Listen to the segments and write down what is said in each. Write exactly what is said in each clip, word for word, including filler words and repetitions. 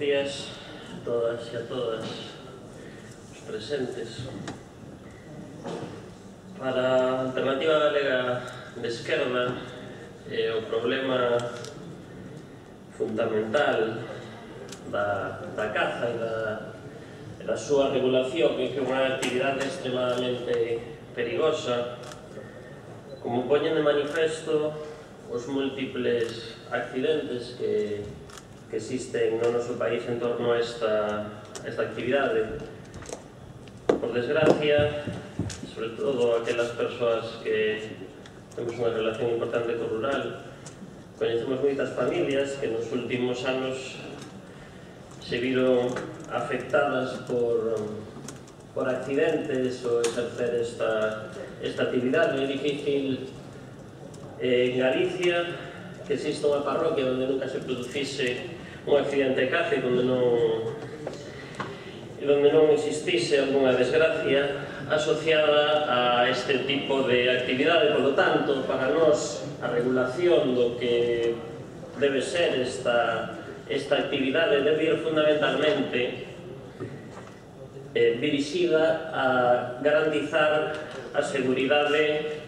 días a todas e a todas os presentes. Para a Alternativa Galega de Esquerda, eh, o problema fundamental da, da caza e da, da súa regulación, que é unha actividade extremadamente perigosa, como poñen de manifesto os múltiples accidentes que, que existen no noso país en torno a esta, esta actividade. Por desgracia, sobre todo aquelas persoas que temos unha relación importante co rural, coñecemos moitas familias que nos últimos anos se viron afectadas por, por accidentes ou exercer esta, esta actividade. É difícil eh, en Galicia que exista unha parroquia onde nunca se producise un accidente de caza e onde non, onde non existise alguna desgracia asociada a este tipo de actividade. Por lo tanto, para nós, a regulación do que debe ser esta, esta actividade debe ir fundamentalmente eh, dirixida a garantizar a seguridade,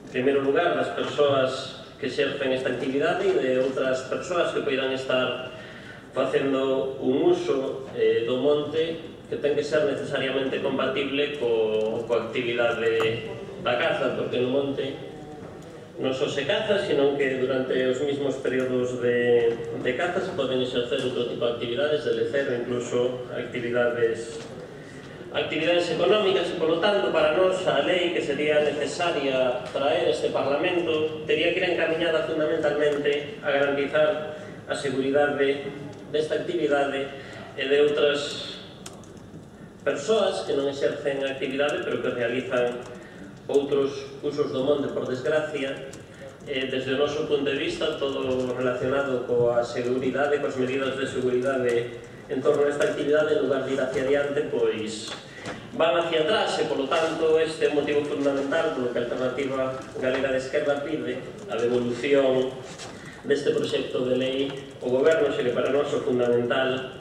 en primeiro lugar, das persoas que exercen esta actividade e de outras persoas que poidan estar facendo un uso eh, do monte que ten que ser necesariamente compatible co, coa actividade da caza, porque no monte non só se caza, sino que durante os mesmos períodos de, de caza se poden exercer outro tipo de actividades, de lecer, incluso actividades actividades económicas, e, polo tanto, para nós a lei que sería necesaria traer este Parlamento teria que ir encaminhada fundamentalmente a garantizar a seguridade desta actividade e de outras persoas que non exercen a actividade pero que realizan outros usos do monte. Por desgracia, eh, desde o noso punto de vista, todo relacionado coa seguridade, coas medidas de seguridade en torno a esta actividade, en lugar de ir hacia adiante, pois van hacia atrás, e, polo tanto, este é o motivo fundamental polo que a Alternativa Galega de Esquerda pide a devolución deste proxecto de lei ao Goberno, xe que para nós o fundamental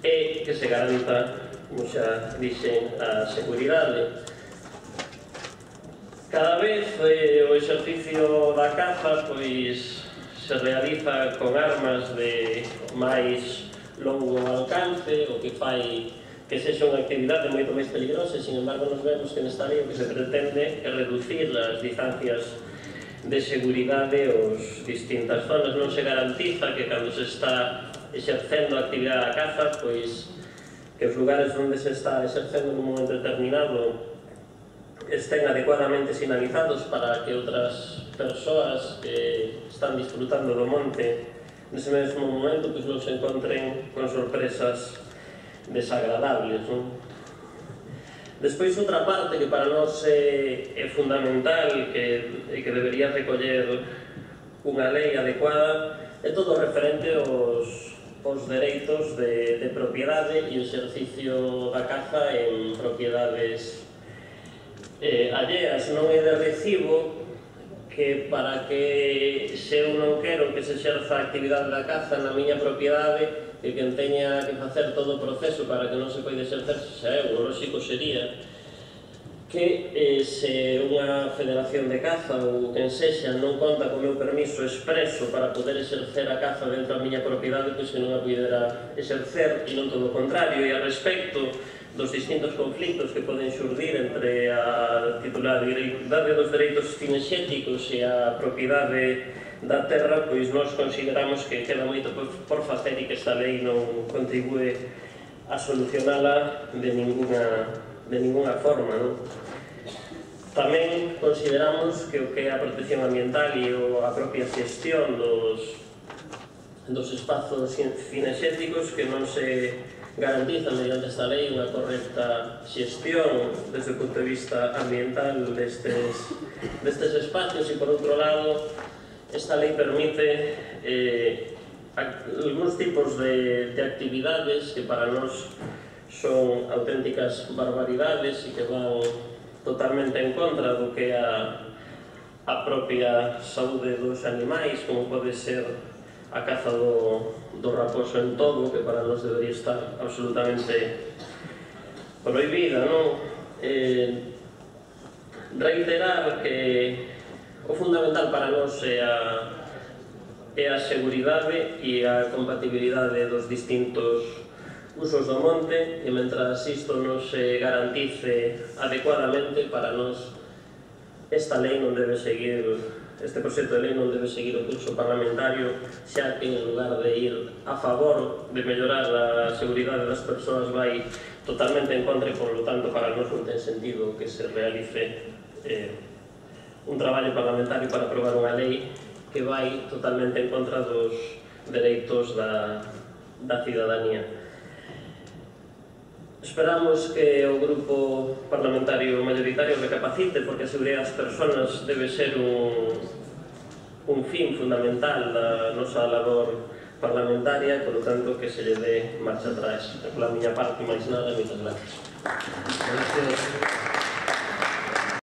é que se garanta, como xa dixen, a seguridade. Cada vez eh, o exercicio da caza pois se realiza con armas de máis longo alcance, o que fai que sexa unha actividade moito máis peligrosa, e, sin embargo, nos vemos que nesta lei o que se pretende é reducir as distancias de seguridade aos distintas zonas. Non se garantiza que cando se está exercendo a actividade da caza, pois que os lugares onde se está exercendo nun momento determinado estén adecuadamente sinalizados para que outras persoas que están disfrutando do monte nese mesmo momento pois non se encontren con sorpresas desagradables, non? Despois, outra parte que para nós é, é fundamental que, e que debería recoller unha lei adecuada é todo referente aos, aos dereitos de, de propiedade e o exercicio da caza en propiedades eh, alleas. Non é de recibo que para que se eu non quero que se exerza a actividade da caza na miña propiedade e que teña que facer todo o proceso para que non se poida exercer, xa é, o lóxico sería que eh, se unha federación de caza ou quen sexa non conta co meu permiso expreso para poder exercer a caza dentro da miña propiedade, pois que non a pudera exercer, e non todo o contrario. E a respecto dos distintos conflictos que poden xurdir entre a titularidade dos dereitos cinexéticos e a propiedade da terra, pois nós consideramos que queda moito por facer e que esta lei non contribúe a solucionala de ninguna, de ninguna forma, non? Tamén consideramos que o que é a protección ambiental e a propia xestión dos, dos espazos cinexéticos que non se garantiza mediante esta lei unha correcta xestión desde o punto de vista ambiental destes, destes espacios, e, por outro lado, esta lei permite eh, algúns tipos de, de actividades que para nós son auténticas barbaridades e que van totalmente en contra do que é a, a propia saúde dos animais, como pode ser a caza do, do raposo en todo, que para nós debería estar absolutamente prohibida, non? Eh, reiterar que o fundamental para nós é a, é a seguridade e a compatibilidade dos distintos usos do monte, e mentras isto non se garantice adecuadamente, para nós esta lei non debe seguir, este proxecto de lei non debe seguir o curso parlamentario, xa que en lugar de ir a favor de mellorar a seguridade das persoas vai totalmente en contra, e por lo tanto para nós non ten sentido que se realice eh, un traballo parlamentario para aprobar unha lei que vai totalmente en contra dos dereitos da, da cidadanía. Esperamos que o grupo parlamentario mayoritario recapacite, porque a seguridade das persoas debe ser un, un fin fundamental da nosa labor parlamentaria, por lo tanto que se lle dé marcha atrás. Pola miña parte, máis nada, moitas gracias. Gracias.